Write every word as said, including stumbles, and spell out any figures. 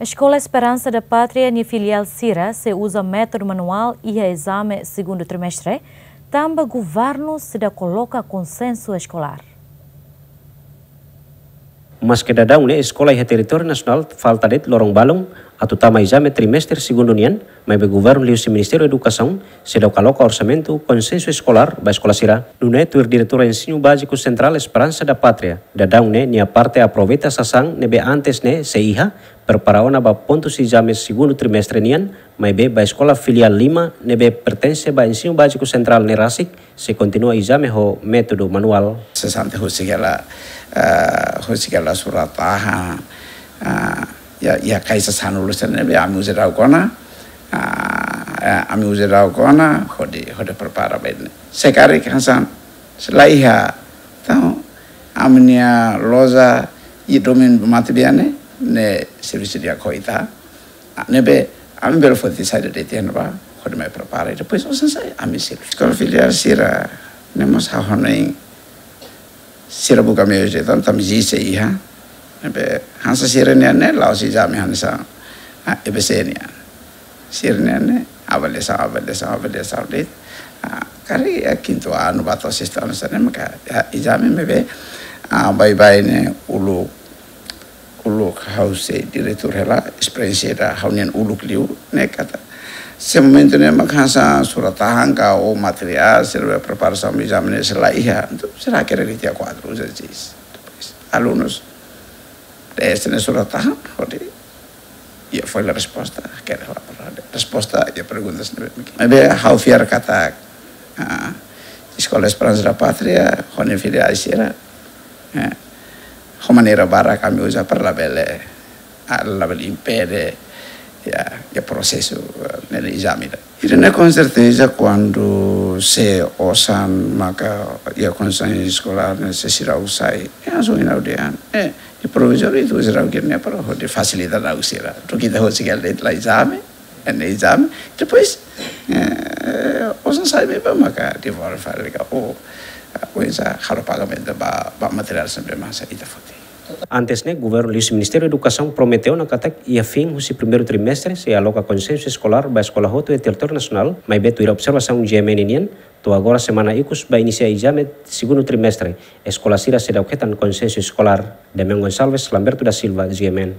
Eskola Esperansa da Pátria nia filiál sira sei uza métodu manuál iha ezame segundu trimestre, tanba governu seidauk koloka konsensu eskolár. Maske daudaun ne'e eskola iha territóriu nasionál falta de'it loron balun atu tama ezame trimestre segundu nian, maibé governu liuhusi Ministériu Edukasaun seidauk aloka orsamentu konsensu eskolár ba eskola sira. Nune'e tuir diretora Ensinu Báziku Sentrál Esperansa da Pátria, daudaun ne'e nia parte aproveita sasán ne'ebé antes ne'e sei iha, prepara ona ba pontus ezame segundu trimestre nian, maibé ba eskola filiál lima ne'ebé pertense ba Ensinu Báziku Sentrál ne'e rasik sei kontinua ezame ho métodu manuál. Sesante husik hela, eh, husik hela surat tahan, eh, iha, iha kaixa sanulu sira ne'ebé ami uza daudaun ona, eh, eh, ami uza daudaun ona, hodi, hodi prepara ba ida-ne'e. Se karik hanesan, se la iha, entaun, ami-nia loja iha domin matebian ne'e, ne'e servisu di'ak ho ita. Ah, ne'ebé, ami bele foti saida de'it iha ne'ebá, hodi mai prepara. Depois, osan sai, ami servisu. Eskola filiál sira, ne'e mós ha'u hanoin, sira buka meius de'it, entaun, tanba ezije iha. Ne'ebé, hanesan sira-nian ne'e, la'ós ezame hanesan, ah, E B C nian. Sira-nian ne'e, avaliasaun, avaliasaun, avaliasaun de'it. Ah, karik iha kintu anu ba to'o sestu anu hanesan ne'e, maka, iha ezame maibé, ah, baibain ne'e uluk, uluk ha'u sei diretór hela, esperiénsia ida ha'u-nian uluk liu, ne'e katak. Se momentu ne'e mak hanesan surat tahan ka ou materiál, sira preparasaun ba ezame ne'e se la iha, entaun sira hakerek tiha kuadru, uza giz. Depois, alunus, dehan ne'e surat tahan, hodi, iha folha resposta, hakerek hela para resposta, iha perguntas ne'ebé. Maibé ha'u fiar katak, ah, Eskola Esperansa da Pátria, ho nia filiál sira, eh, ho maneira barak ami uza para labele, ah, labele impede, iha, iha prosesu, eh, ne'e ezame ida. Ida-ne'e konserteza kuandu se osan maka iha konsellu eskolár ne'e se sira usai. Eh, langsung ina udean. Eh, iha provizóriu ita uza daudaun ne'e para hodi fasilita daudaun sira. Atu ita husik hela de'it la ezame. Ne'e ezame. Depois, eh, osan sai ne'ebá maka devolve fali ka, ou, eh, oinsá halo pagamentu ba, ba materiál sira ne'ebé mak ita foti. Antes ne'e, governu liuhusi Ministériu Edukasaun promete ona katak iha fin husi primeiru trimestre sei aloka konsensu eskolár ba eskola hotu iha territóriu nasionál, maibé tuir observasaun G M N nian, to'o agora semana ikus ba inisia ezame segundu trimestre, eskola sira seidauk hetan konsensu eskolár. Demian Gonçalves, Lamberto da Silva, G M N.